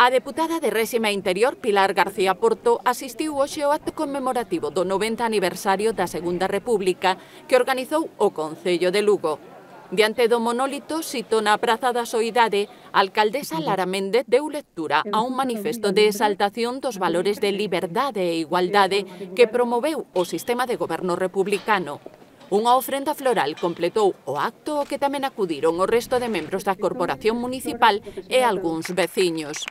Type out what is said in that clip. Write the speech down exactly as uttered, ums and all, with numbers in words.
A deputada de Réxime Interior, Pilar García Porto, asistiu hoxe ao acto conmemorativo do noventa aniversario da Segunda República que organizou o Concello de Lugo. Diante do monólito, sito na Praza da Soidade, a alcaldesa Lara Méndez deu lectura a un manifesto de exaltación dos valores de liberdade e igualdade que promoveu o sistema de goberno republicano. Unha ofrenda floral completou o acto ao que tamén acudiron o resto de membros da Corporación Municipal e algúns veciños.